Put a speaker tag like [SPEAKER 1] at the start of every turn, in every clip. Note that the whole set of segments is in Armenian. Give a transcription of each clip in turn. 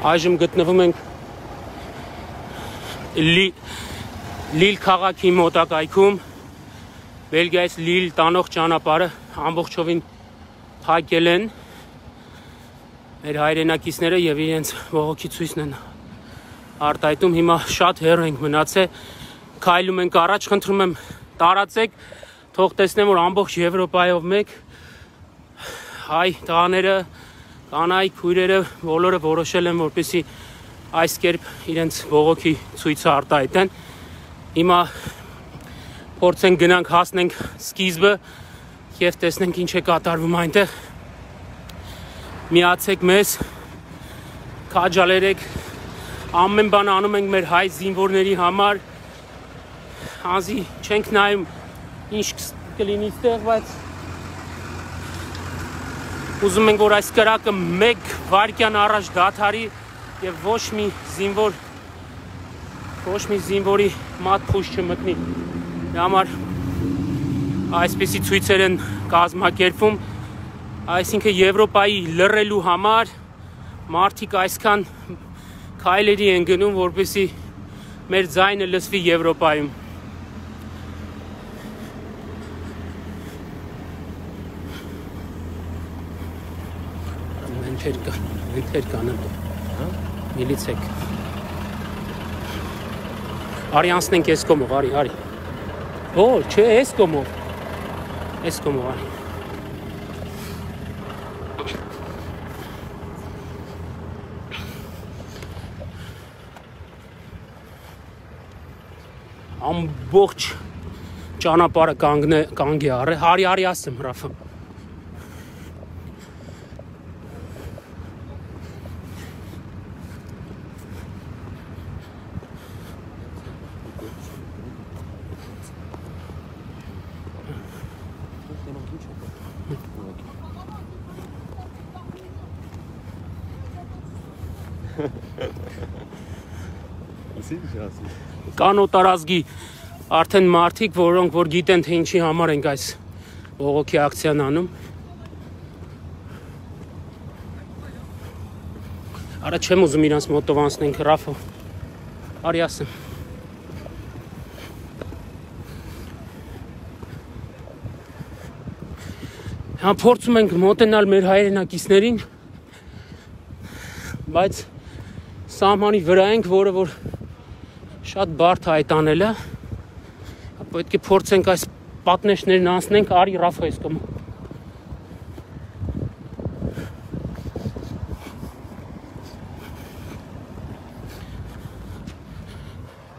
[SPEAKER 1] Այժմ գտնվում ենք Լիլ քաղաքի մոտակայքում, Բելգիայից Լիլ տանող ճանապարհը ամբողջովին փակել են մեր հայրենակիցները եւ իրենց բողոքի ցույցն են արտահայտում։ Հիմա շատ հեռու ենք մնացել, քայլում ենք առաջ, խնդրում եմ տարածեք, թող տեսնեմ, որ ամբողջ Եվրոպայով մեկ հայ տղաները, կանայք, քույրերը բոլորը որոշել են, որպեսզի այս կերպ իրենց բողոքի ցույցը արտահայտեն։ Հիմա փորձենք գնանք հասնենք սկիզբը եւ տեսնենք ինչ է կատարվում այնտեղ։ Միացեք մեզ, քաջալերեք, ամեն բան անում ենք մեր հայ զինվորների համար, անզի չենք նայում ինչ կլինի ստեղ, բայց ուզում ենք, որ այս կրակը մեկ վայրկյան առաջ դադարի եւ ոչ մի զինվորի մատ փուշ չմտնի։ Դրա համար այսպիսի ցույցեր են կազմակերպվում, այսինքն Եվրոպայի լռելու համար մարդիկ այսքան քայլերի են գնում, որպեսզի մեր ձայնը լսվի Եվրոպայում։ Մենթեր կանեն, միլիցեք։ Արի անցնենք այս կողմով, արի։ Օ, չէ, այս կողմով, արի։ Ամբողջ ճանապարհը կանգ է առել, արի ասեմ, Ռաֆա։ Կան օտարազգի արդեն մարդիկ, որոնք որ գիտեն, թե ինչի համար ենք այս բողոքի ակցիան անում։ Արա չեմ ուզում իրանց մոտով անցնենք, Ռաֆո, արի ասեմ։ Հա փորձում ենք մոտենալ մեր հայրենակիցներին, բայց սահմանի վրա ենք, որը որ շատ բարդ է այդ անելը, պետք է փորձենք այս պատնեշներն անցնենք, արի Ռաֆա այս կողմը։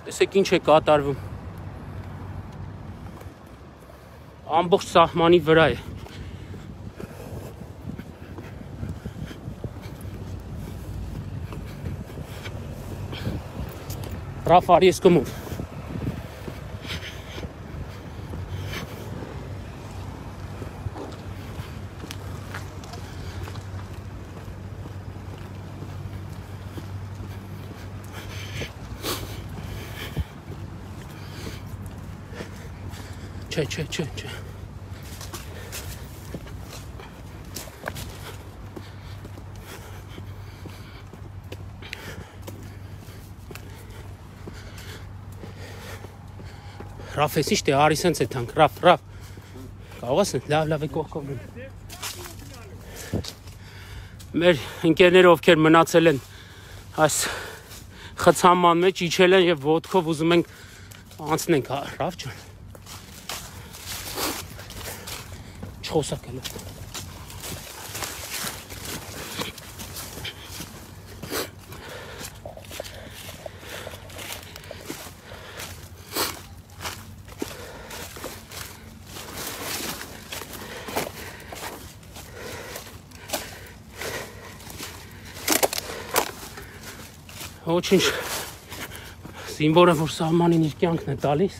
[SPEAKER 1] Տեսեք ինչ է կատարվում։ Ամբողջ սահմանի վրա է։ Ռաֆ, արի ես կողմով։ Չէ։ Ռաֆ, ես ինչ դե արի սենց է թանք, Ռաֆ, կարող ես լավ է կողքով գնի։ Մեր ընկերները, ովքեր մնացել են այս խցանման մեջ, իջել են և ոտքով ուզում ենք անցնենք, Ռաֆ ջան։ Չխոսակել է։ Ոչինչ զինվորը, որ սահմանին իր կյանքն է տալիս,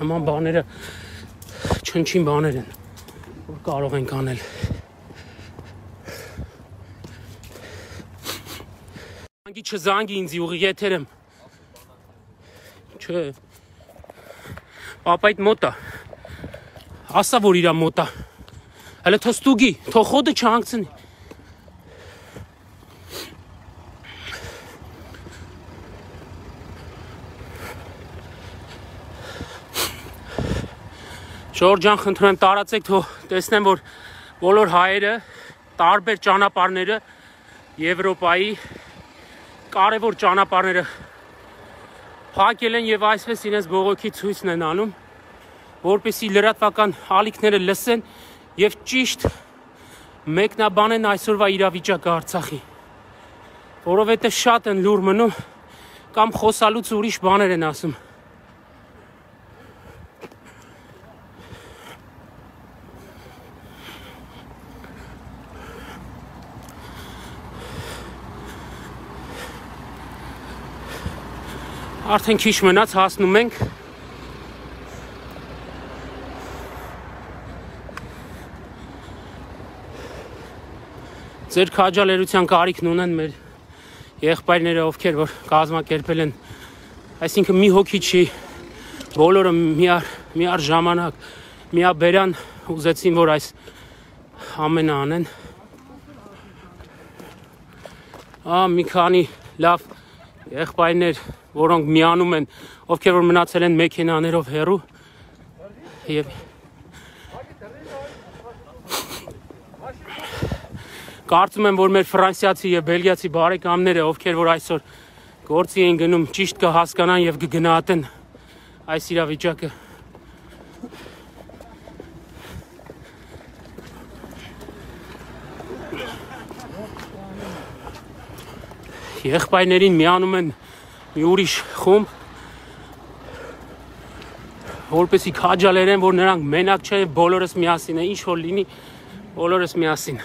[SPEAKER 1] նման բաները չնչին բաներ են, որ կարող ենք անել։ Չզանգի ինձ ուղի եթեր եմ։ Չէ։ Պապայդ մոտ է։ Ասա, որ իրա մոտ է։ Հələ թող ստուգի, թող խոդը չհանգցնի։ Ժորժան, խնդրում եմ տարածեք, թող տեսնեմ, որ բոլոր հայերը տարբեր ճանապարհները Եվրոպայի կարևոր ճանապարհները փակել են եւ այսպես իրենց բողոքի ցույցն են անում, որպեսզի լրատվական ալիքները լսեն եւ ճիշտ մեկնաբանեն այսօրվա իրավիճակը Արցախի, որովհետեւ շատ են լուր մնում կամ խոսալուց ուրիշ բաներ են ասում։ Արդեն քիչ մնաց հասնում ենք ձեր քաջալերության կարիքն ունեն մեր եղբայրները, ովքեր որ կազմակերպել են, այսինքն մի հոգի չի, բոլորը միառ ժամանակ միաբերան ուզեցին, որ այս ամենը անեն։ Մի քանի լավ եղբայրներ, որոնք միանում են, ովքեր որ մնացել են մեքենաներով հեռու եւ կարծում եմ, որ մեր ֆրանսիացի եւ բելգիացի բարեկամները, ովքեր որ այսօր գործի են գնում, ճիշտ կհասկանան եւ կգնահատեն այս իրավիճակը։ Եղբայրներին միանում են մի ուրիշ խումբ, որպեսզի քաջալերեն, որ նրանք մենակ չեն, բոլորս միասին են, ինչ որ լինի, բոլորս միասին։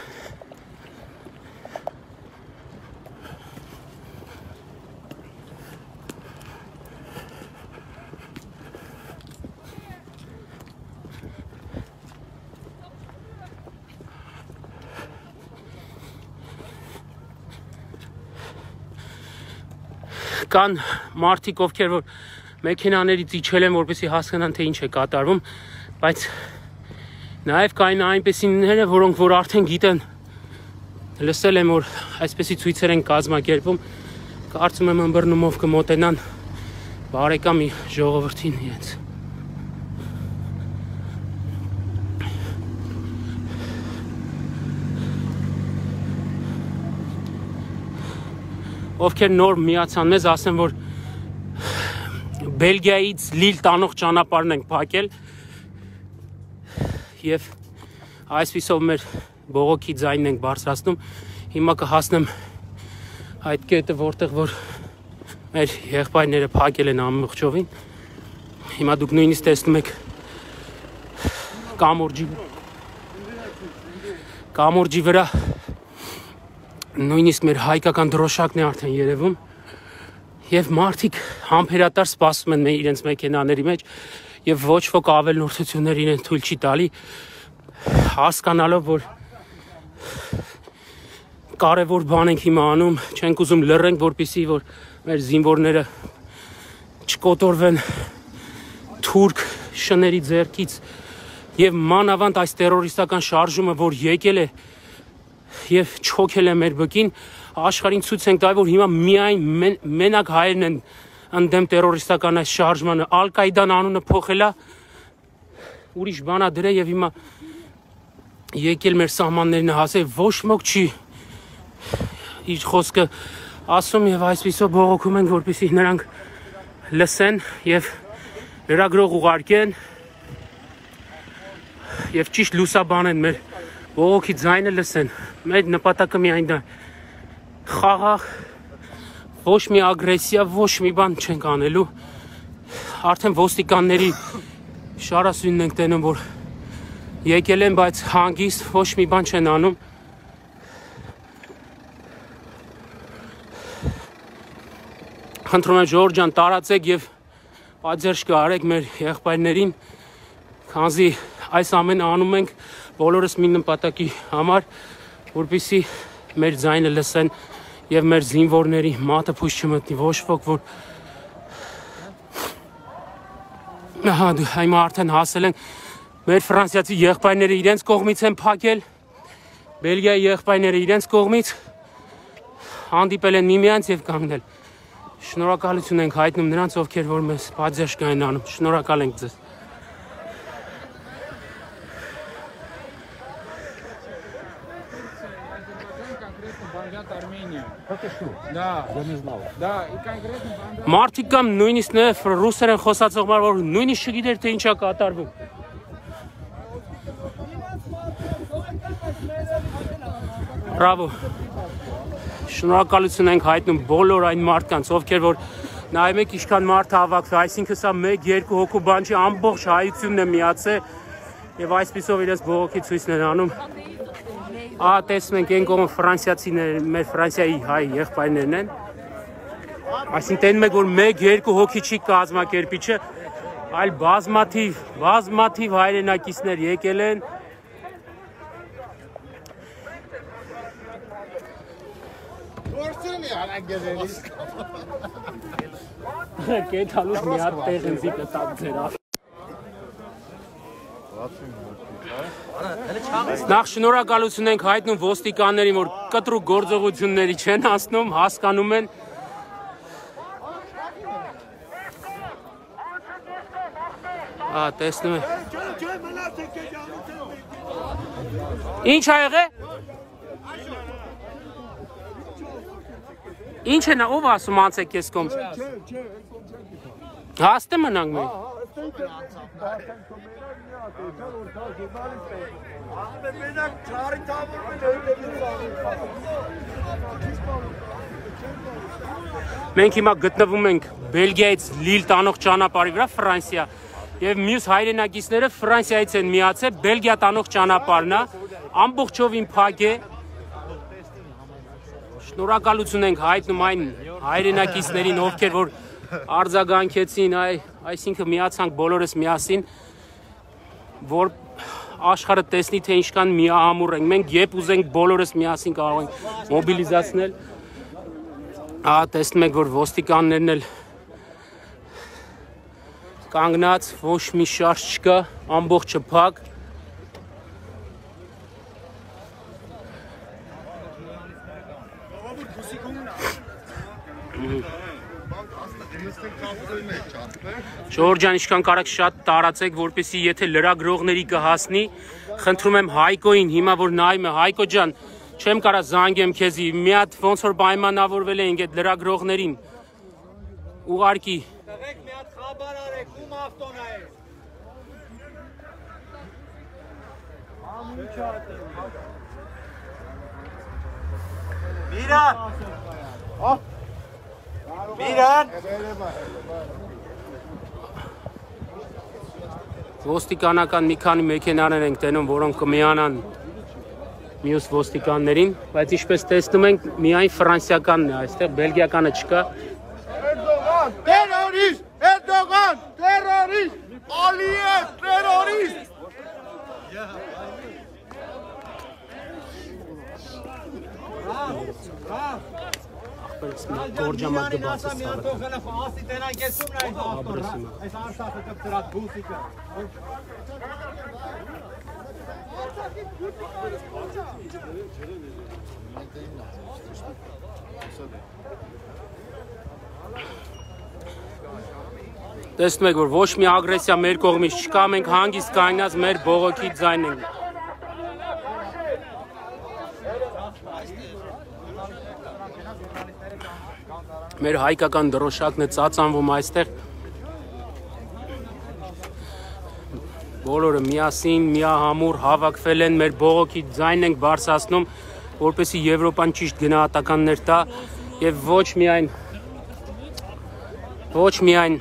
[SPEAKER 1] Կան մարդիկ, ովքեր որ մեքենաներից իջել են, որպեսզի հասկանան, թե ինչ է կատարվում, բայց նաև կային այնպեսիները, որոնք որ արդեն գիտեն, լսել եմ, որ այսպեսի ցույցեր են կազմակերպում, կարծում եմ ըմբռնումով կմոտենան բարեկամի ժողովրդին իրենց։ Ովքեր նոր միացան մեզ, ասեմ, որ Բելգիայից Լիլ տանող ճանապարհն ենք փակել եւ այսպիսով մեր բողոքի ձայնն ենք բարձրացնում։ Հիմա կհասնեմ այդ կետը, որտեղ որ մեր եղբայրները փակել են ամբողջովին։ Հիմա դուք նույնիսկ տեսնում եք կամուրջի վրա նույնիսկ մեր հայկական դրոշակն է արդեն երևում եւ մարդիկ համբերատար սպասում են իրենց մեքենաների մեջ եւ ոչ ոք ավելնորդություններ իրեն թույլ չի տալի, հասկանալով, որ կարևոր բան ենք հիմա անում, չենք ուզում լռենք, որպեսզի որ մեր զինվորները չկոտորվեն թուրք շների ձեռքից եւ մանավանդ այս տերորիստական շարժումը, որ եկել է եւ չոքել է մեր բկին, աշխարհին ցույց ենք տալի, որ հիմա միայն մենակ հայերն են ընդդեմ տերորիստական այս շարժմանը, Ալ-Կաիդան անունը փոխելա, ուրիշ բանա դրել եւ հիմա եկել մեր սահմաններն հասել, ոչ ոք չի իր խոսքը ասում եւ այսպիսով բողոքում են, որպեսզի նրանք լսեն եւ լրագրող ուղարկեն եւ ճիշտ լուսաբանեն մեր բողոքի ձայնը լսեն։ Մեր նպատակը միայն դա խաղաղ, ոչ մի ագրեսիա, ոչ մի բան չենք անելու։ Արդեն ոստիկանների շարասյունն ենք տենում, որ եկել են, բայց հանգիստ ոչ մի բան չեն անում։ Խնդրում եմ Ժորժ ջան, տարածեք եւ պատժ կարեք մեր եղբայրներին, քանզի այս ամենը անում ենք բոլորս մի նպատակի համար, որպեսզի մեր ձայնը լսեն եւ մեր զինվորների մատը փույս չմտնի, ոչ ոք որ հիմա արդեն հասել են մեր ֆրանսիացի եղբայրները իրենց կողմից են փակել, Բելգիայի եղբայրները իրենց կողմից հանդիպել են միմյանց եւ կանգնել։ Շնորհակալություն ենք հայտնում նրանց, ովքեր որ մեզ պատժ կային անում։ Շնորհակալ ենք ձեզ։ Մարդիկ կամ նույնիսկ ռուսերեն խոսացողներ, որ նույնիսկ չգիտեր թե ինչա կատարվում։ Բրավո։ Շնորհակալություն ենք հայտնում բոլոր այն մարդկանց, ովքեր որ նայում եք ինչքան մարդ հավաքվել, այսինքն սա 1-2 հոգու բան չի, ամբողջ հայությունն է միացել եւ այսպիսով իրենց բողոքի ցույցն են անում։ Ահա տեսնում ենք այն կողմ ֆրանսիացիներ, մեր Ֆրանսիայի հայ եղբայրներն են։ Այսինքն տենում եք որ 1-2 հոգի չի կազմակերպիչը, այլ բազմաթիվ հայրենակիցներ եկել են։ Կեթալուց մի հատ տեղ ինձի կտակ ձերավ։ Նախ շնորհակալություն ենք հայտնում ոստիկաններին, որ կտրուկ գործողությունների չեն հասնում, հասկանում են։ Տեսնում եք։ Ինչ ա եղել։ Ինչ է նա, ով ասում անցեք ես կոմ։ Հաստե մնանք մենք։ Մենք հիմա գտնվում ենք Բելգիայից Լիլ տանող ճանապարհի վրա, Ֆրանսիա, եւ մյուս հայրենակիցները Ֆրանսիայից են միացել, Բելգիա տանող ճանապարհն է, ամբողջովին փակ է։ Շնորհակալություն ենք հայտնում այն հայրենակիցներին, ովքեր որ արձագանքեցին, այսինքն միացանք բոլորս միասին, որ աշխարհը տեսնի թե ինչքան միահամուռ ենք։ Մենք երբ ուզենք բոլորս միասին կարող ենք մոբիլիզացնել։ Տեսնում եք որ ոստիկաններն էլ կանգնած, ոչ մի շարժ չկա, ամբողջը փակ։ Ժորժ ջան, ինչքան կարաք շատ տարածեք, որպեսզի եթե լրագրողների կհասնի, խնդրում եմ Հայկոին, հիմա որ նայում է, Հայկո ջան, չեմ կարա զանգեմ քեզի, մի հատ ոնց որ պայմանավորվել ենք այդ լրագրողներին։ Ուղարկի։
[SPEAKER 2] Տղեկ մի հատ խաբար արեք, ում ավտոն է։ Միրան։ Միրան։
[SPEAKER 1] Ոստիկանական մի քանի մեքենաներ ենք տենում, որոնք կմիանան մյուս ոստիկաններին, բայց ինչպես տեսնում ենք, միայն ֆրանսիականն է այստեղ, բելգիականը չկա։
[SPEAKER 3] Erdoğan terörist! Erdoğan terörist! Aliyev terörist!
[SPEAKER 1] Գորջամատ գբացը Տեսնում եք, որ ոչ մի ագրեսիա մեր կողմից չկա, մենք հանգիստ կանգնած մեր բողոքի ձայն ենք։ Մեր հայկական դրոշակն է ծածանվում այստեղ։ Բոլորը միասին, միահամուռ հավաքվել են, մեր բողոքի ձայնն ենք բարձրացնում, որպեսզի Եվրոպան ճիշտ գնահատականներ տա եւ ոչ միայն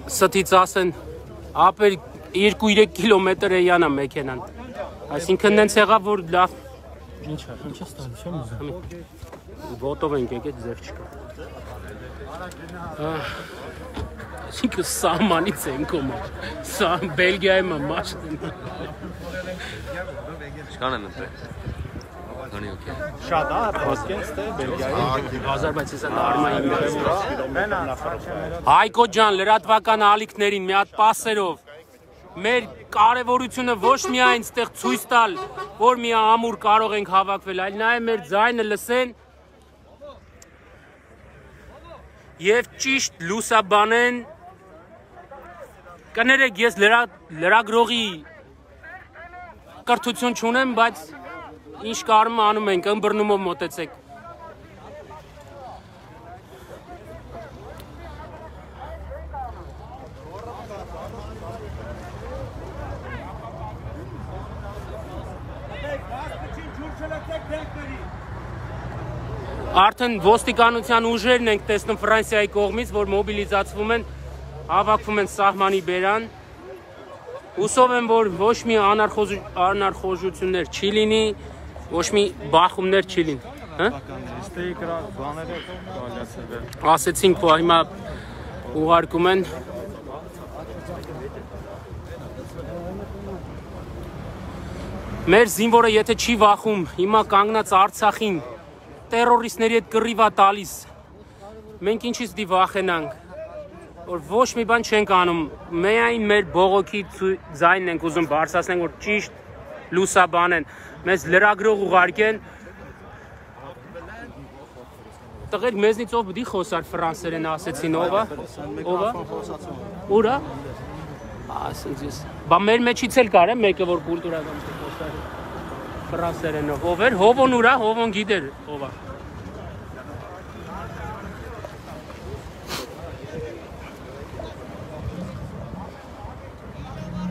[SPEAKER 1] ստից ասեն ապեր 2-3 կիլոմետր է յանա մեքենան։ Այսինքն նենց եղավ որ լավ ինչա ստալի չեմ ուզում։ Ոտով ենք եկել ձեր չկա։ Այսինքն սահմանից են կոմա։ Սա Բելգիայի մաշտ են։
[SPEAKER 4] Ինչքան են ընտրել։ Քանի օքեյ։
[SPEAKER 2] Շատ է, պոսկենս թե Բելգիայի։
[SPEAKER 1] Ադրբեջանցի արմայի Հայկո ջան, լրատվական ալիքներին մի հատ պասերով մեր կարևորությունը ոչ միայն այստեղ ցույց տալ, որ մի ամուր կարող ենք հավաքվել, այլ նաև մեր ձայնը լսեն եւ ճիշտ լուսաբանեն։ Կներեք, ես լրագրողի կրթություն չունեմ, բայց ինչ կարում անում ենք, ըմբռնումով մոտեցեք։ Արդեն ոստիկանության ուժերն ենք տեսնում Ֆրանսիայի կողմից, որ մոբիլիզացվում են, հավաքվում են սահմանի բերան։ Հուսով եմ, որ ոչ մի անարխոժություններ չի լինի, ոչ մի բախումներ չի լինի։ Ասեցինք, որ հիմա ուղարկում են։ Մեր զինվորը եթե չի վախում, հիմա կանգնած Արցախին տերորիստների հետ կռիվ է տալիս։ Մենք ինչից դի վախենանք, որ ոչ մի բան չենք անում, միայն մեր բողոքի ձայնն ենք ուզում բարձրացնենք, որ ճիշտ լուսաբանեն, մեզ լրագրող ուղարկեն։ Տղեր մեզնից ով պիտի խոսար ֆրանսերեն ասեցին, ով է։ Ուր է։ Ասենց ես։ Բա մեր մեջից էլ կար է մեկը, որ կուլտուրական խոսար ֆրանսերենով, ով էր, Հովոն ուր է, Հովոն գիտեր, ով է։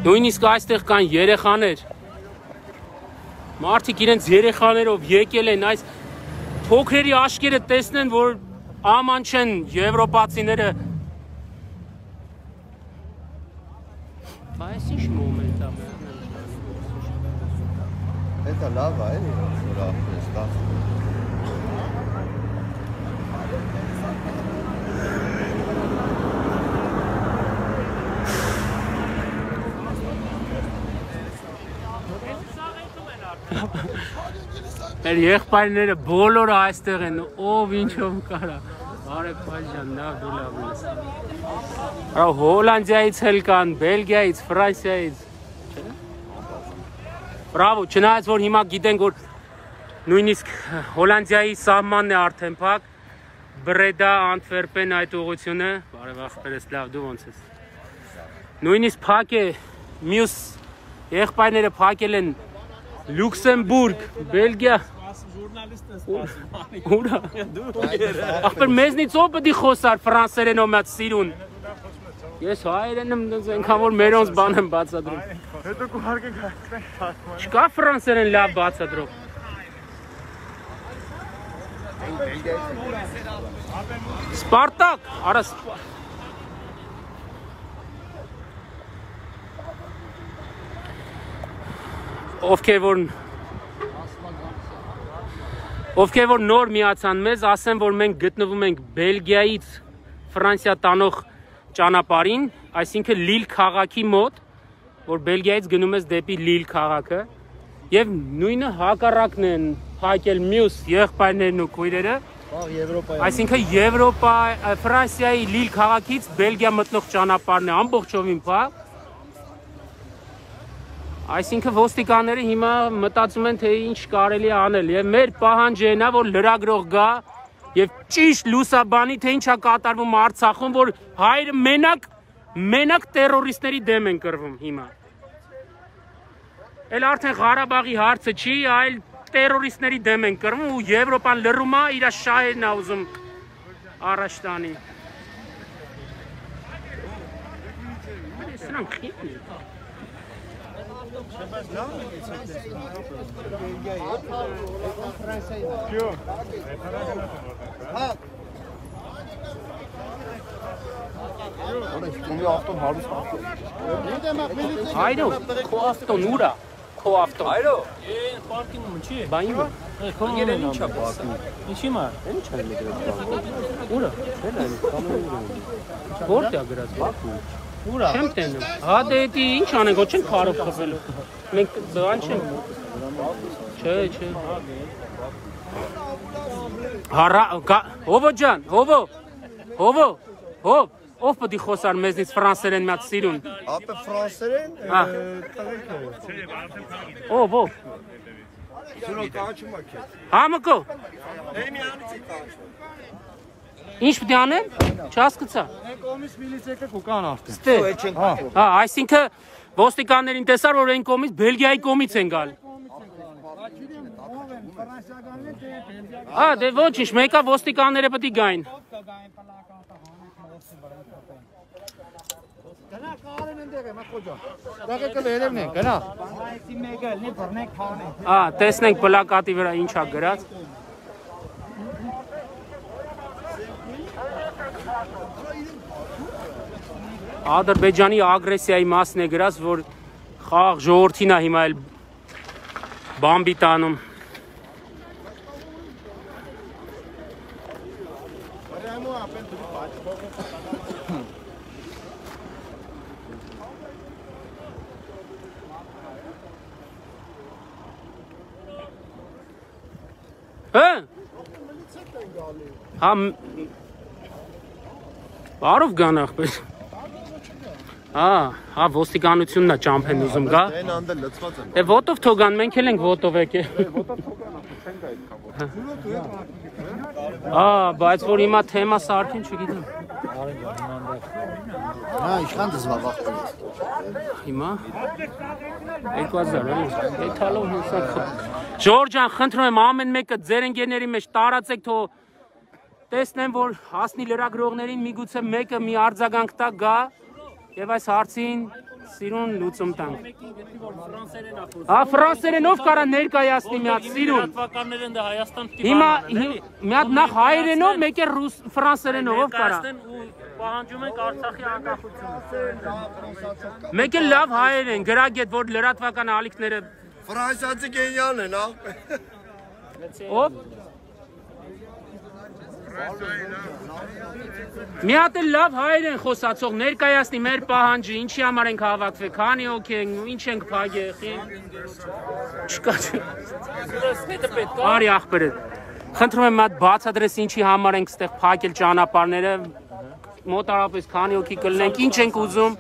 [SPEAKER 1] Նույնիսկ այստեղ կան երեխաներ, մարդիկ իրենց երեխաներով եկել են այս փոքրերի աշկերը տեսնեն, որ աման չեն եվրոպացիները։ Բայց ինչ մոմենտ է։
[SPEAKER 3] Դա լավ է, որ ապրես
[SPEAKER 1] Մեր եղբայրները բոլորը այստեղ են, ով ինչով կարա։ Բարև Փայժան, լավ դու լավ ես։ Արա Հոլանդիայից էլ կան, Բելգիայից, Ֆրանսիայից։ Բրավո, չնայած որ հիմա գիտենք, որ նույնիսկ Հոլանդիայի սահմանն է արդեն փակ, Բրեդա, Անտվերպեն այդ ուղղությունը, բարև ախպերս, լավ դու ոնց ես։ Նույնիսկ փակ է, մյուս եղբայրները փակել են Լյուքսեմբուրգ, Բելգիա։ Ուրա։ Ախպեր մեզնից ով պիտի խոսար ֆրանսերենով մեծ սիրուն։ Ես հայերեն եմ այնքան որ մերոնց բան եմ բացատրում։
[SPEAKER 3] Հետո կուհարկենք հայտնենք։
[SPEAKER 1] Չկա ֆրանսերեն լավ բացատրող։ Սպարտակ, արա ովքեր որ նոր միացան մեզ, ասեն, որ մենք գտնվում ենք Բելգիայից Ֆրանսիա տանող ճանապարհին, այսինքն Լիլ քաղաքի մոտ, որ Բելգիայից գնում ես դեպի Լիլ քաղաքը, եւ նույնը հակառակն են փակել մյուս եղբայրներն ու քույրերը, այսինքն Եվրոպա, Ֆրանսիայի Լիլ քաղաքից Բելգիա մտնող ճանապարհն է ամբողջովին փակ։ Այսինքն ոստիկանները հիմա մտածում են, թե ինչ կարելի է անել, եւ մեր պահանջը նա, որ լրագրող գա եւ ճիշտ լուսաբանի, թե ինչ է կատարվում Արցախում, որ հայերը մենակ տերորիստների դեմ են կռվում հիմա։ Էլ արդեն Ղարաբաղի հարցը չի, այլ տերորիստների դեմ են կռվում ու Եվրոպան լռում է, իր շահերն է ուզում առաջ տանի։ Սրանք խիտ են։ Այրո, քո ավտոն ուրա, քո ավտոն։ Այրո, պարկինգում չի։ Բա իմ։ Անգերեն ինչա պարկինգ։ Ինչի՞ մա։ Ինչ է մեջը։ Ուրա։ Չէ՞ որտե՞ա գրած Բաքու։ Ուրա։ Չեմ տենում։ Հա դե դի ինչ անենք, ոչ չեն քարով խփելու։ Մենք բան չենք։ Չէ։ Հարա, Հովո ջան, Հովո, ով պիտի խոսար մեզնից ֆրանսերեն միած սիրուն։
[SPEAKER 3] Ապե ֆրանսերեն, տղեկ է։
[SPEAKER 1] Ով։
[SPEAKER 3] Սուրո կաչում է քեզ։
[SPEAKER 1] Համկո։
[SPEAKER 3] Էմի անիցի կաչում։
[SPEAKER 1] Ինչ պիտի անեն։ Չհասկացա։
[SPEAKER 3] Կոմից միլիցիա կու կան արդեն։
[SPEAKER 1] Ստե։ Հա, այսինքն ոստիկաններին տեսար, որ այն կողմից Բելգիայի կողմից են գալ։ Հա, դե ոչինչ, մեկը ոստիկանները պետք է գային։
[SPEAKER 3] Գնա կարեն ընդեղ եմ, խոջա։ Դակը վերևն են, գնա։ Այսի մեկը լի բռնեք քանե։
[SPEAKER 1] Հա, տեսնենք պլակատի վրա ինչա գրած։ Ադրբեջանի ագրեսիայի մասն է գրած, որ խաղ ժողովրդին է հիմա էլ բամբի տանում։ Հա բարով գան ախպեր։ Հա ոստիկանությունն է ճամփեն ուզում գա։
[SPEAKER 5] Այն անդել լծված են։
[SPEAKER 1] Է ոտով թողան, մենք էլ ենք ոտով եկել։
[SPEAKER 5] Ոտով թողան, չենք այդքան։
[SPEAKER 1] Բայց որ հիմա թեմա սարքին չգիտեմ։
[SPEAKER 3] Հա, իշխան դզվաղ։
[SPEAKER 1] Հիմա 2000 էլի։ Էթալով հեսա։ Ժորժ ջան, խնդրում եմ ամեն մեկը ձեր ընկերների մեջ տարածեք, թող տեսնեմ, որ հասնի լրագրողներին միգուցե մեկը մի արձագանք տա գա եւ այս հարցին սիրուն լուծում տանք։ Հա, ֆրանսերենով կարա ներկայացնի մի հատ սիրուն։
[SPEAKER 6] Լատվականներն դա Հայաստան պիտի
[SPEAKER 1] Հիմա մի հատ նախ հայերենով, մեկ էլ ֆրանսերենով կարա։
[SPEAKER 6] պահանջում ենք Արցախի անկախությունը։
[SPEAKER 1] Մեկ էլ լավ հայերեն, գրագետ, որ լրատվական ալիքները
[SPEAKER 5] Ֆրանսիացի գենիալն են, ախ։
[SPEAKER 1] ով մի հատ էլ լավ հայերեն խոսացող ներկայացնի մեր պահանջը, ինչի համար ենք հավաքվել, քանի հոգի ենք, ինչ ենք փագել, չկա։ Արի ախպերը։ Խնդրում եմ մատ բացատրես ինչի համար ենք ստեղ փակել ճանապարհները, մոտարապես քանի հոգի կլինենք, ինչ ենք ուզում։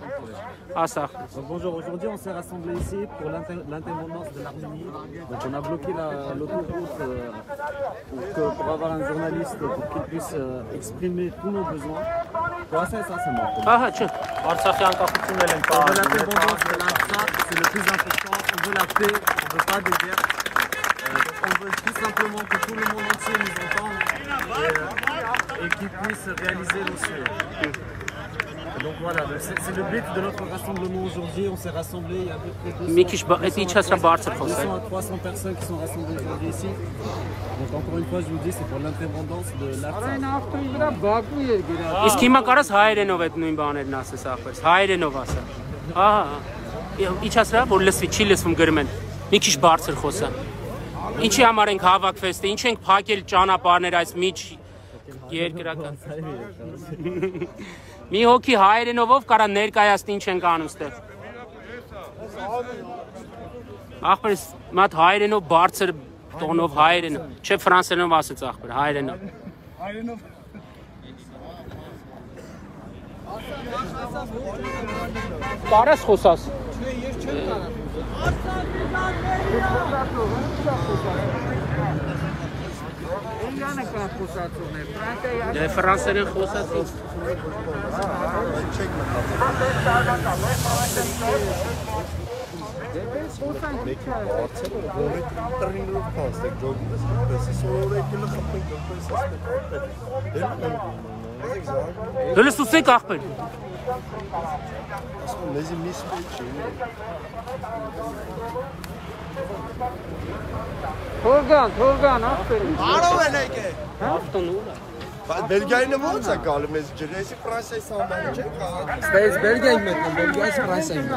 [SPEAKER 7] Bonjour, aujourd'hui on s'est rassemblés ici pour l'indépendance de l'Arménie. Donc on a bloqué l'autoroute pour avoir un journaliste pour qu'il puisse exprimer tous nos besoins. Pour ça, c'est mort.
[SPEAKER 6] Արցախի անկախությունն էլ են
[SPEAKER 7] L'indépendance de l'Artsakh, c'est le plus important. On veut la paix, on ne veut pas de guerre. On veut tout simplement que tout le monde entier nous entende et qu'il puisse réaliser nos souhaits. Donc voilà, c'est le but de notre rassemblement aujourd'hui. On s'est rassemblés, il y a à peu près 200 personnes qui sont rassemblées aujourd'hui ici. Donc encore une fois, je vous dis, c'est pour l'indépendance de l'Artsakh.
[SPEAKER 1] Իսկ հիմա կարաս հայերենով այդ նույն բաներն ասես ախպերս, հայերենով ասա։ Իջացրա, որ լսվի, չի լսվում գրում են, մի քիչ բարձր խոսա։ Ինչի համար ենք հավաքվել, ինչ ենք փակել ճանապարհներ այս միջ երկրական։ Մի հոգի հայերենով կարա ներկայացնի ինչ ենք անում ստեղ։ Ախպերս մատ հայերենով բարձր տոնով հայերենով, չէ ֆրանսերենով ասեց ախպեր, հայերենով։ Կարաս խոսաս։ Դե ֆրանսերեն խոսած։ Դելս ուսեք ախպեր։
[SPEAKER 5] Մեզի միս չի։
[SPEAKER 1] Թորգան, ախպեր։
[SPEAKER 5] Արով են եկե։
[SPEAKER 1] Ավտոն ուր է։
[SPEAKER 5] Բելգիայինը ո՞նց է գալու մեզ ջրեսի Ֆրանսիայի սահմանը չէ՞ կա։
[SPEAKER 3] Ստեյս Բելգիայի մեկն, Բելգիայից Ֆրանսիային։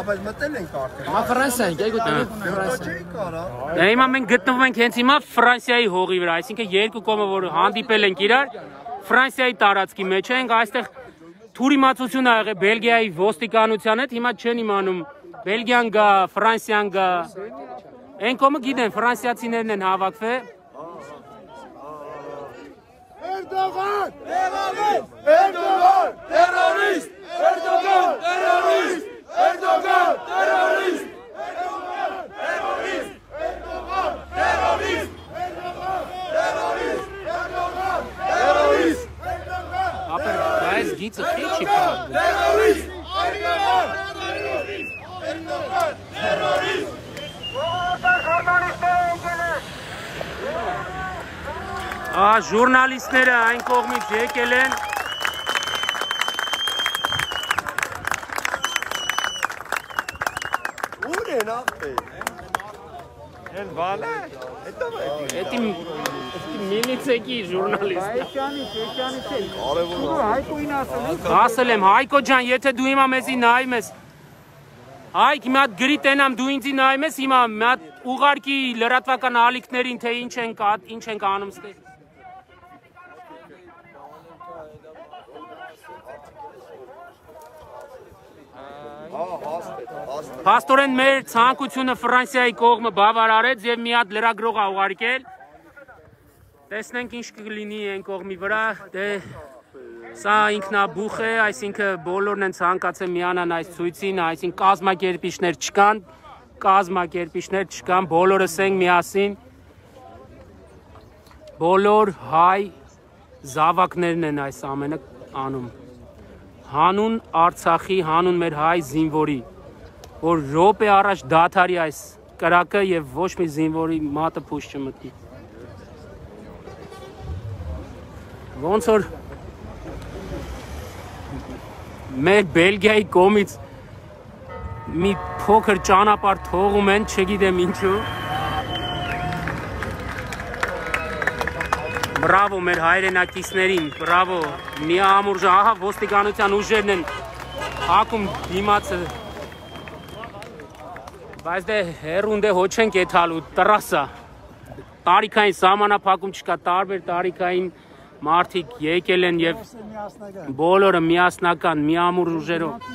[SPEAKER 5] Բայց մտել ենք արդեն։
[SPEAKER 3] Մա Ֆրանսիային, գայգոտ
[SPEAKER 5] Ֆրանսիա չի կարա։
[SPEAKER 1] Դե հիմա մենք գտնվում ենք հենց հիմա Ֆրանսիայի հողի վրա, այսինքն երկու կողմը որ հանդիպել ենք իրար, Ֆրանսիայի տարածքի մեջ ենք, այստեղ թուրիմացություն ա եղել Բելգիայի ոստիկանության հետ, հիմա չեն իմանում Բելգիան գա, Ֆրանսիան գա։ Այն կողմը գիտեն, ֆրանսիացիներն են հավաքվել։
[SPEAKER 5] Erdoğan! Terörist! Erdoğan! Terörist! Erdoğan! Terörist! Terörist! Erdoğan! Terörist! Erdoğan! Terörist! Erdoğan! Terörist!
[SPEAKER 1] Ապեր, այս գիծը քիչ չի փակ։
[SPEAKER 5] Terörist! Erdoğan! Terörist! Erdoğan! Terörist!
[SPEAKER 1] Ժուրնալիստները այն կողմից եկել են։
[SPEAKER 5] Ուր են ախպեր։ Են վալա։
[SPEAKER 1] Էդի միլիցեքի ժուրնալիստ։
[SPEAKER 3] Էջանից է։
[SPEAKER 5] Կարևոր է։
[SPEAKER 3] Հայկոին ասել եմ։
[SPEAKER 1] Ասել եմ, Հայկո ջան, եթե դու հիմա մեզի նայում ես, Հայկ, մի հատ գրի տենամ դու ինձի նայում ես, հիմա մի հատ ուղարկի լրատվական ալիքներին, թե ինչ ենք անում ստե։ Փաստորեն մեր ցանկությունը Ֆրանսիայի կողմը բավարարեց եւ մի հատ լրագրող ա ուղարկել։ Տեսնենք ինչ կլինի այն կողմի վրա, դե սա ինքնաբուխ է, այսինքն բոլորն են ցանկացել միանան այս ցույցին, այսինքն կազմակերպիչներ չկան, բոլորս ենք միասին, բոլոր հայ զավակներն են այս ամենը անում, հանուն Արցախի, հանուն մեր հայ զինվորի, որ րոպե առաջ դադարի այս կրակը եւ ոչ մի զինվորի մատը փուշ չմտնի։ Ոնց որ մեր Բելգիայի կողմից մի փոքր ճանապարհ թողում են, չգիտեմ ինչու։ Բրավո մեր հայրենակիցներին, բրավո։ Միամուրժ, ահա ոստիկանության ուժերն են հակում դիմացը։ Բայց դե հերուն դե հոչ են կեթալու, տրասա։ Տարիքային սահմանափակում չկա, տարբեր տարիքային մարդիկ եկել են եւ բոլորը միասնական, միամուր ուժերով։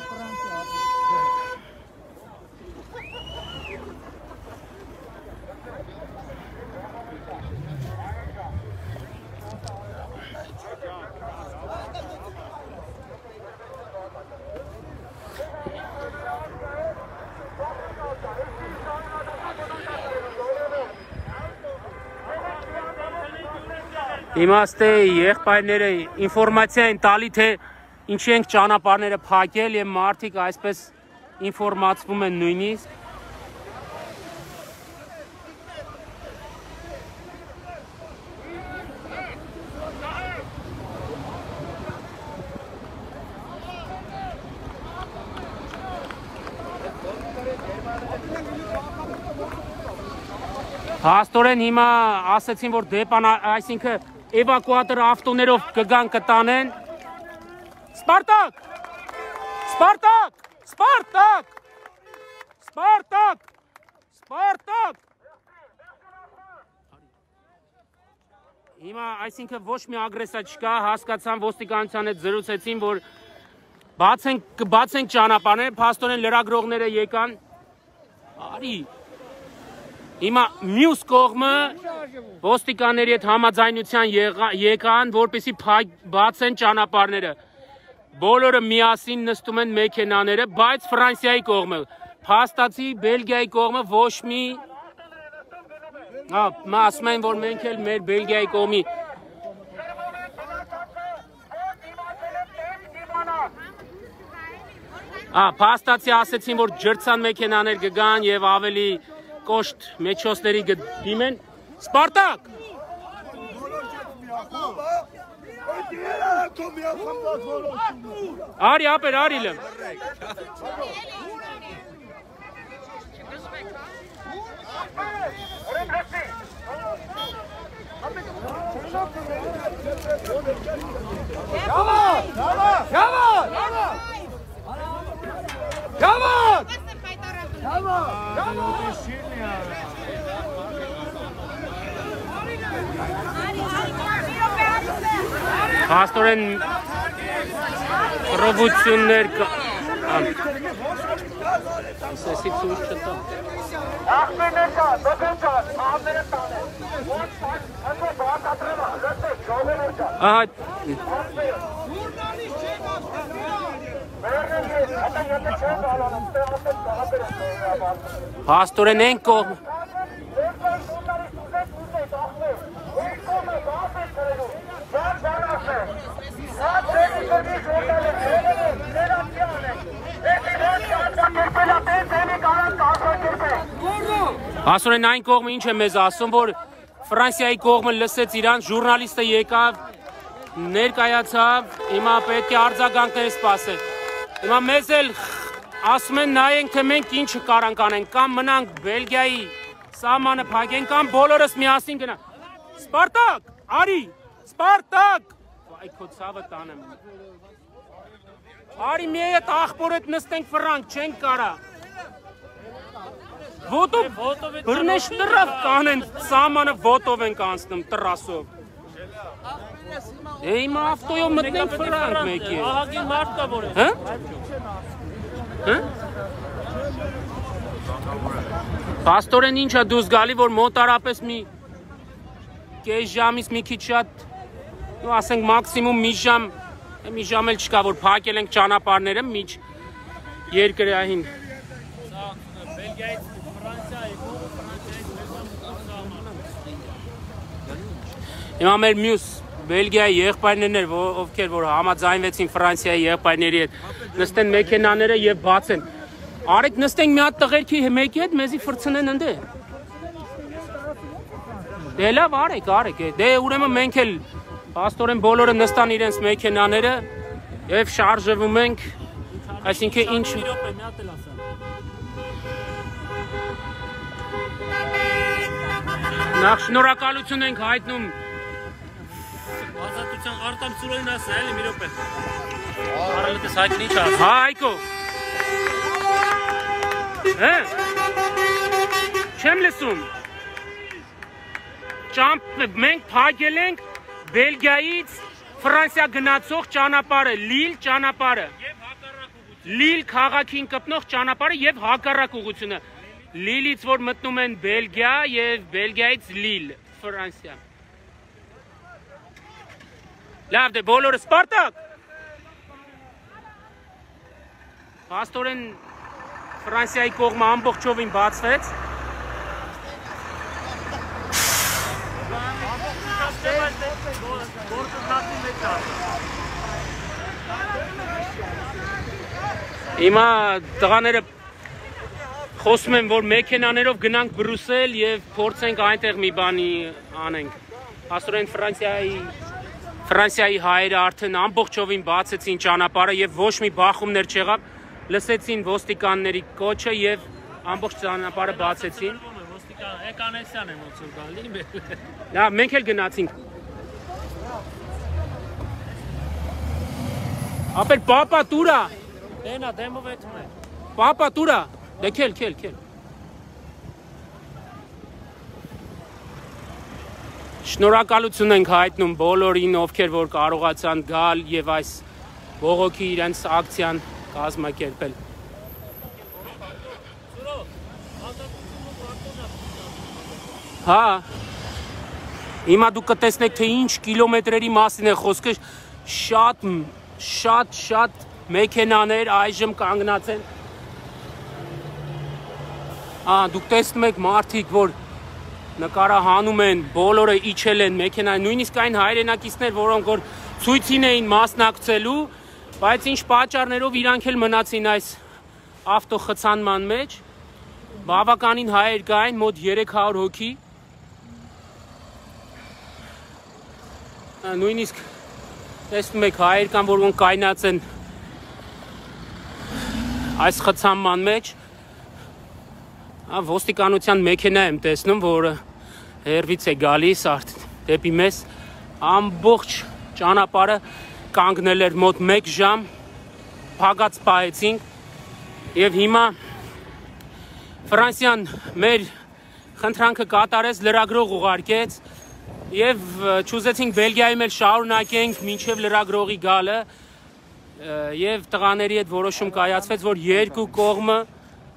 [SPEAKER 1] Իմաստե եղբայրները ինֆորմացիա են տալի, թե ինչի ենք ճանապարհները փակել եւ մարդիկ այսպես ինֆորմացվում են նույնիսկ։ Հաստորեն հիմա ասեցին, որ դեպան, այսինքն էվակուատոր ավտոներով կգան կտանեն։ Սպարտակ! Սպարտակ! Սպարտակ! Սպարտակ! Սպարտակ! Հիմա այսինքն ոչ մի ագրեսիա չկա, հասկացան ոստիկանության հետ զրուցեցին, որ բացենք ճանապարհները, փաստորեն լրագրողները եկան։ Արի Հիմա մյուս կողմը ոստիկանների հետ համաձայնության եկան, որպեսզի բացեն ճանապարհները։ Բոլորը միասին նստում են մեքենաները, բայց Ֆրանսիայի կողմը, փաստացի Բելգիայի կողմը ոչ մի ասում են, որ մենք էլ մեր Բելգիայի կողմի փաստացի ասեցին, որ ջրցան մեքենաներ կգան եւ ավելի կոշտ մեջոսների գդիմեն։ Սպարտակ! Արի ապեր, արի լեմ։ Փաստորեն ռովություններ ասեցի ցույց չտա։ Փաստորեն են կողմ Հասորեն այն կողմը ինչ է մեզ ասում, որ Ֆրանսիայի կողմը լսեց իրան, ժուրնալիստը եկավ, ներկայացավ, հիմա պետք է արձագանքներ սպասել։ Հիմա մեզ էլ ասում են նայենք, թե մենք ինչ կարանք անենք, կամ մնանք Բելգիայի Սամանը փակեն կամ բոլորս միասին գնա։ Սպարտակ, արի, Սպարտակ։ Այ քո ցավը տանեմ։ Արի մի հետ ախպոր հետ նստենք ֆրանկ, չենք կարա։ Ոտով բռնեշ տրավ կանեն, սամանը ոտով ենք անցնում տրասով։ Իմ ավտոյով մտնենք ֆրանկ մեկի։
[SPEAKER 6] Ահագին մարդ կա որ է։
[SPEAKER 1] Հա? Հա? Պաստորեն ինչ է դուս գալի, որ մոտարապես մի կես ժամից մի քիչ շատ, ասենք մաքսիմում մի ժամ էլ չկա, որ փակել ենք ճանապարհները միջ երկրային։
[SPEAKER 6] Բելգիայից Ֆրանսիայի,
[SPEAKER 1] Հիմա մեր մյուս Բելգիայի եղբայրներն էր, ովքեր որ համաձայնվեցին Ֆրանսիայի եղբայրների հետ, նստեն մեքենաները եւ բացեն։ Արեք նստենք մի հատ տղերքի մեկի հետ, մեզի ֆրցնեն ընդ։ Դե լավ արեք, դե ուրեմն մենք էլ Պաստորեն բոլորը նստան իրենց մեքենաները եւ շարժվում ենք, այսինքն ինչ Նախ շնորհակալություն ենք հայտնում
[SPEAKER 6] ազատության արտամ ծուրոյին ասա, էլի մի րոպե։ Արալտես հայտնի չի ասա։
[SPEAKER 1] Հայկո։ Հա։ Չեմ լսում։ Մենք փակել ենք Բելգիայից Ֆրանսիա գնացող ճանապարհը, Լիլ ճանապարհը։ Լիլ քաղաքին կպնող ճանապարհը եւ հակառակ ուղղությունը։ Լիլից որ մտնում են Բելգիա եւ Բելգիայից Լիլ, Ֆրանսիա։ Լավ դե բոլորը Սպարտակ։ Պաստորեն Ֆրանսիայի կողմը ամբողջովին բացվեց։ Հիմա տղաները խոսում են, որ մեքենաներով գնանք Բրուսել եւ փորձենք այնտեղ մի բանի անենք։ Աստորեն Ֆրանսիայի հայերը արդեն ամբողջովին բացեցին ճանապարհը եւ ոչ մի բախումներ չեղավ, լսեցին ոստիկանների կոչը եւ ամբողջ ճանապարհը բացեցին։
[SPEAKER 6] Ոստիկան Էկանեսյան է ոնց որ գալի։
[SPEAKER 1] Լավ, մենք էլ գնացինք։ Ապել պապա տուրա։
[SPEAKER 6] Դենա դեմով էթում է։
[SPEAKER 1] Պապա տուրա։ Դե քել։ Շնորհակալություն ենք հայտնում բոլորին, ովքեր որ կարողացան գալ եւ այս բողոքի իրենց ակցիան կազմակերպել։ Հա։ Հիմա դուք կտեսնեք, թե ինչ կիլոմետրերի մասին է խոսքը, շատ մեքենաներ այժմ կանգնած են։ Դուք տեսնում եք մարդիկ, որ նկարահանում են, բոլորը իջել են մեքենա, նույնիսկ այն հայրենակիցներ, որոնք որ ցույցին էին մասնակցելու, բայց ինչ պատճառներով իրանք էլ մնացին այս ավտոխցանման մեջ, բավականին հայեր կային, մոտ 300 հոգի, նույնիսկ տեսնում եք հայեր կան, որոնք կայնած են այս խցանման մեջ, ոստիկանության մեքենա եմ տեսնում, որը հերվից է գալիս դեպի մեզ, ամբողջ ճանապարհը կանգնել էր մոտ 1 ժամ, փակած պահեցինք եւ հիմա Ֆրանսիան մեր խնդրանքը կատարեց, լրագրող ուղարկեց եւ չուզեցինք Բելգիայում էլ շարունակենք մինչեւ լրագրողի գալը եւ տղաների հետ որոշում կայացվեց, որ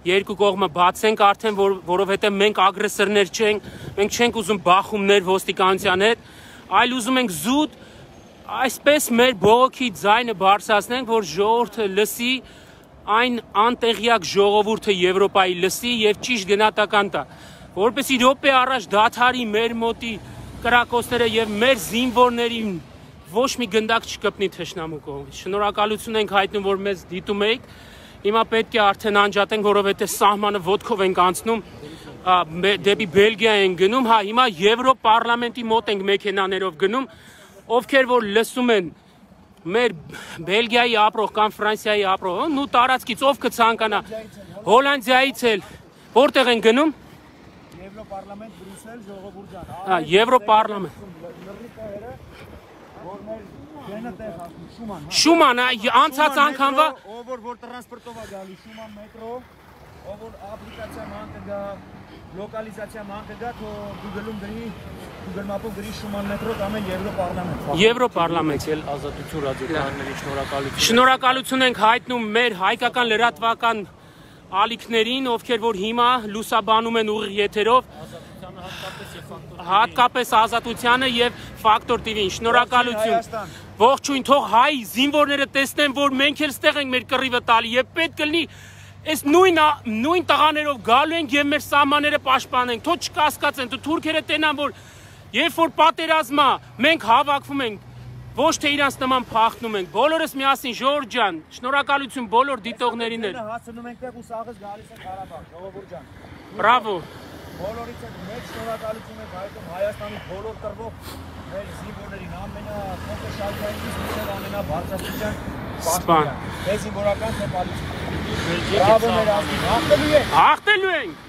[SPEAKER 1] երկու կողմը բացենք արդեն, որովհետև մենք ագրեսորներ չենք, մենք չենք ուզում բախումներ ոստիկանության հետ, այլ ուզում ենք զուտ այսպես մեր բողոքի ձայնը բարձրացնենք, որ ժողովուրդը լսի, այն անտեղյակ ժողովուրդը Եվրոպայի լսի եւ ճիշտ գնահատական տա, որպեսզի րոպե առաջ դադարի մեր մոտի կրակոցները եւ մեր զինվորներին ոչ մի գնդակ չկպնի թշնամու կողմից։ Շնորհակալություն ենք հայտնում, որ մեզ դիտում եք։ Հիմա պետք է արդեն անջատենք, որովհետև սահմանը ոտքով ենք անցնում, դեպի Բելգիա ենք գնում, հիմա Եվրոպարլամենտի մոտ ենք մեքենաներով գնում, ովքեր որ լսում են մեր Բելգիայի ապրող կամ Ֆրանսիայի ապրող, նու տարածքից ով կցանկանա, Հոլանդիայից էլ, որտեղ են գնում։
[SPEAKER 2] Եվրոպարլամենտ Բրյուսել ժողովուրդ ջան։
[SPEAKER 1] Եվրոպարլամենտ։
[SPEAKER 2] Որ մեր գենը տեղ հասնում Շուման։
[SPEAKER 1] Շուման, անցած անգամվա
[SPEAKER 2] ով որ տրանսպորտով է գալի Շուման մետրո, ով որ ապլիկացիա ման կգա, լոկալիզացիա ման կգա, թո Google-ում գրի, Google Map-ով գրի Շուման մետրո կամ Եվրոպարլամենտ։
[SPEAKER 1] Եվրոպարլամենտ։
[SPEAKER 6] Ազատություն ռադիոկայանների շնորհակալություն։
[SPEAKER 1] Շնորհակալություն ենք հայտնում մեր հայկական լրատվական ալիքներին, ովքեր որ հիմա լուսաբանում են ուղիղ եթերով, հատկապես Ազատությանը եւ Ֆակտոր TV-ին։ Շնորհակալություն։ Ողջույն, թող հայ զինվորները տեսնեն, որ մենք էլ ստեղ ենք մեր կռիվը տալի եւ պետք կլինի այս նույն տղաներով գալու ենք եւ մեր սահմանները պաշտպանենք։ Թող չկասկածեն, թուրքերը տենան, որ երբ որ պատերազմա մենք հավաքվում ենք, ոչ թե իրանց նման փախնում ենք։ Բոլորս միասին Ժորժ ջան, շնորհակալություն բոլոր դիտողներին։
[SPEAKER 2] Հասնում ենք ու սաղս գալիս են Ղարաբաղ, ժողովուրդ ջան։
[SPEAKER 1] Բրավո։
[SPEAKER 2] Բոլորից մեծ շնորհակալություն ենք հայտնում Հայաստանի բոլոր տրվող մեր զինվորներին, ամենախոշալքայինից մինչև ամենաբարձրաստիճան
[SPEAKER 1] Սպան։
[SPEAKER 2] Մեր զինվորական թեպալից։ Բրավո մեր ազգին, հաղթելու ենք։
[SPEAKER 1] Հաղթելու ենք։